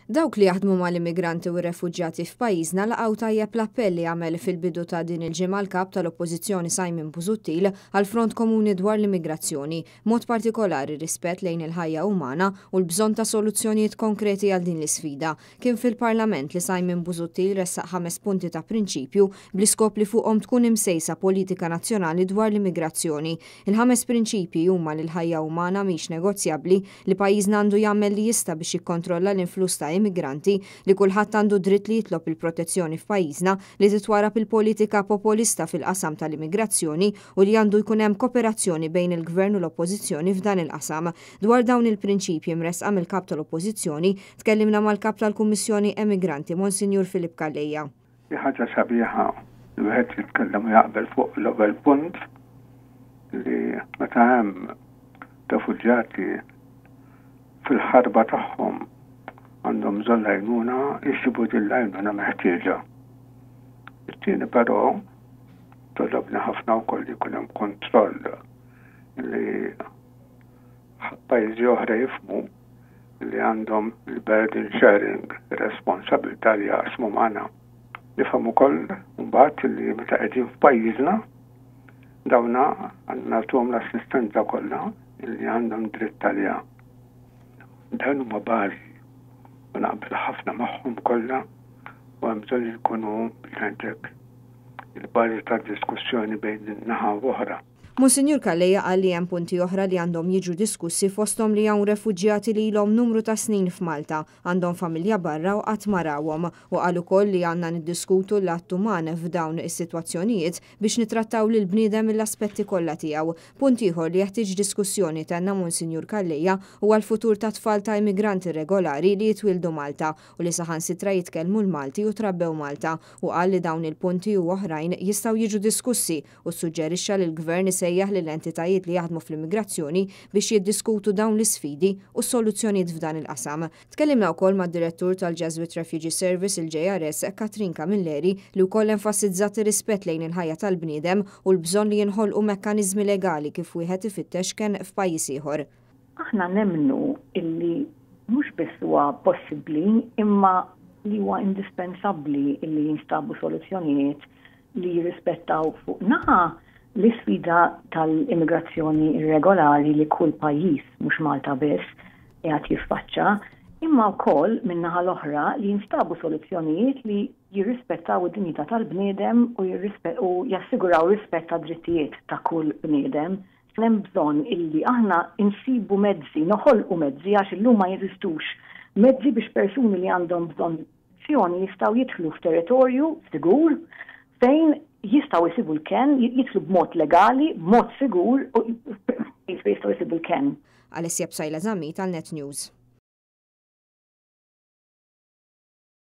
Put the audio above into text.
Dawk li jaħdmu mal-immigranti u r-refuġjati f'pajjiżna laqgħu tajjeb l-appell li għamel fil-bidu ta' din il-ġimgħa l-Kap tal-Oppożizzjoni Simon Busuttil għal front komuni dwar l-immigrazzjoni, b'mod partikolari r-rispett lejn il-ħajja umana u l-bżonn ta' soluzzjonijiet konkreti għal din l-isfida. Kien fil-Parlament li Simon Busuttil ressaq ħames punti ta' prinċipju bl-iskop li fuqhom tkun imsejsa politika nazzjonali dwar l-immigrazzjoni. Il-ħames prinċipji huma li l-ħajja umana mhix negozjabbli, li pajjiżna għandu jagħmel li jista' biex jikkontrolla l-influss ta' immigranti, li kulħadd għandu dritt li jitlob il-protezzjoni f'pajjiżna, li titwarrab il-politika popolista fil-qasam tal-immigrazzjoni u li għandu jkun hemm koperazzjoni bejn il-Gvern u l-Oppożizzjoni f'dan il-qasam. Dwar dawn il-prinċipji mressqa mill-Kap tal-Oppożizzjoni, tkellimna mal-Kap tal-Kummissjoni Emigranti, Monsinjur Philip Calleja. Hi ħaġa sabiħa li wieħed jitkellem u jaqbel fuq l-ewwel punt li meta hemm refuġjati fil-ħarba tagħhom għandhom bżonn l-għajnuna jsibu din l-għajnuna meħtieġa. It-tieni però togħġobni ħafna wkoll li jkun hemm kontroll li pajjiżi oħra jifhmu li għandhom il-burden sharing, ir-responsabilità li jaqsmu magħna. Nifhem ukoll mbagħad li meta qegħdin f'pajjiżna dawna nagħtuhom l-assistenza kollha li għandhom dritt għaliha. Dawn huma bażi u naqbel ħafna magħhom kollha u hemm bżonn li jkunu biex ngħidlek il-bażi tad-diskussjoni bejn naħa u oħra. Monsinjur Calleja qal li hemm punti oħra li għandhom jiġu diskussi fosthom li hawn refuġjati li ilhom numru ta' snin f'Malta, għandhom familja barra u qatt ma rawhom u qal ukoll li għandna niddiskutu l-att uman f'dawn is-sitwazzjonijiet biex nittrattaw lill-bniedem mill-aspetti kollha tiegħu. Punt ieħor li jeħtieġ diskussjoni, tenna Monsinjur Calleja, huwa l-futur tat-tfal ta' immigranti irregolari li jitwieldu Malta u li saħansitra jitkellmu l-Malti u trabbew Malta u qal li dawn il-punti u oħrajn jistgħu jiġu diskussi u ssuġġerixxa li l-Gvern isejjaħ lill-entitajiet li jaħdmu fl-immigrazzjoni biex jiddiskutu dawn l-isfidi u s-soluzzjonijiet f'dan il-qasam. Tkellimna wkoll mad-Direttur tal-Jesuit Refugee Service, il-JRS, Catherine Camilleri, li wkoll enfassizzat ir-rispett lejn il-ħajja tal-bniedem u l-bżonn li jinħolqu mekkaniżmi legali kif wieħed ifittex kenn f'pajjiż ieħor. Aħna nemmnu illi mhux biss huwa possibbli imma li huwa indispensabbli illi jinstabu soluzzjonijiet li jirrispettaw fuq naħa l-isfida tal-immigrazzjoni irregolari li kull pajjiż, mhux Malta biss, qiegħed jiffaċċa, imma wkoll min-naħa l-oħra li jinstabu soluzzjonijiet li jirrispettaw id-dinjità tal-bniedem u jassiguraw rispett tad-drittijiet ta' kull bniedem. Hemm bżonn illi aħna nsibu mezzi, noħolqu mezzi għax illum ma jeżistux mezzi biex persuni li għandhom bżonn Azzjoni jistgħu jidħlu f'territorju sigur fejn jistgħu jsibu l-kenn, jidħlu b'mod legali, b'mod sigur u fejn jistgħu jsibu l-kenn. Alessia Psaila Zammit għal Net News.